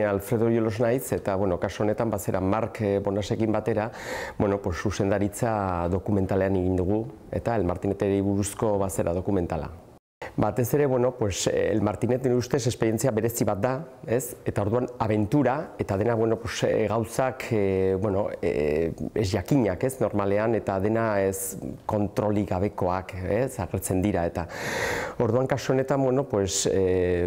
ni Alfredo Jolos naiz, eta, kasu honetan, bazera Mark Bonasekin batera, zuzendaritza dokumentalean egin dugu, eta El Martineteri buruzko bazera dokumentala. Batez ere, El Martinet nire ustez esperientzia berezi bat da, ez? Eta orduan abentura, eta dena, gauzak, ez jakinak, ez, normalean, eta dena ez kontrolik gabekoak, ez, agertzen dira, eta orduan kasu honetan,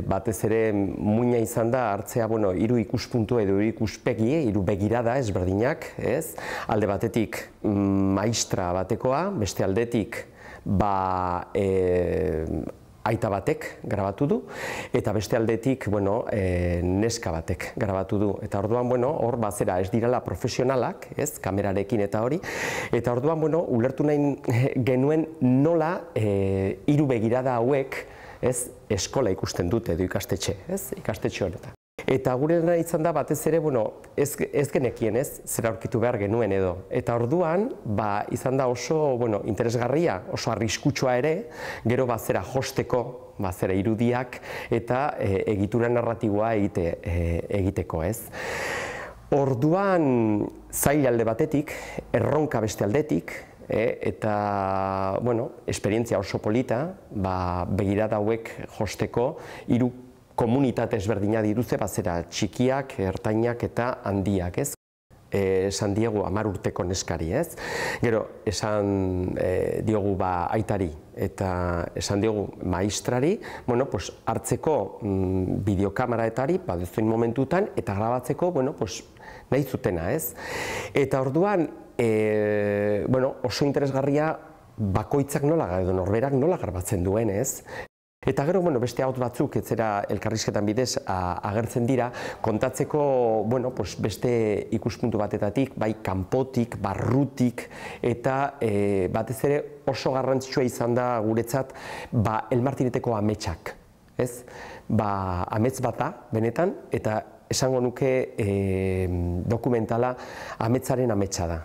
batez ere muina izan da hartzea, hiru ikuspuntu edo hiru ikuspegi, hiru begirada ezberdinak, ez? Alde batetik maistra batekoa, beste aldetik, aita batek grabatu du, eta beste aldetik, neska batek grabatu du. Eta orduan, hor bazera ez direla profesionalak, ez, kamerarekin eta hori, eta orduan, ulertu nahi genuen nola hiru begirada hauek, ez, eskola ikusten dute edo ikastetxe, ez, ikastetxe honetan. Eta gure nahi izan da batez ere, ez genekien, ez, zer aurkitu behar genuen edo. Eta orduan, izan da oso, interesgarria, oso arriskutsua ere, gero bazera josteko, bazera irudiak, eta egitura narratiboa egiteko, ez. Orduan, zail alde batetik, erronka beste aldetik, eta, esperientzia oso polita, begirada hauek josteko, hiru komunitate ezberdina dituzte, bazera txikiak, ertainak eta handiak, ez? Esan diegu 10 urteko neskari, ez? Gero, esan diogu aitari eta esan diogu maestrari, hartzeko bideokameraetari, badezuin momentutan, eta grabatzeko, nahi zutena, ez? Eta orduan, oso interesgarria bakoitzak nola, edo norberak nola grabatzen duen, ez? Eta gero, beste haut batzuk, ez zera elkarrizketan bidez agertzen dira, kontatzeko, beste ikuspuntu batetatik, bai kanpotik, barrutik, eta batez ere oso garrantzitsua izan da guretzat, El Martineteko ametsak, ez? Amets bat da, benetan, eta esango nuke dokumentala ametsaren ametsa da.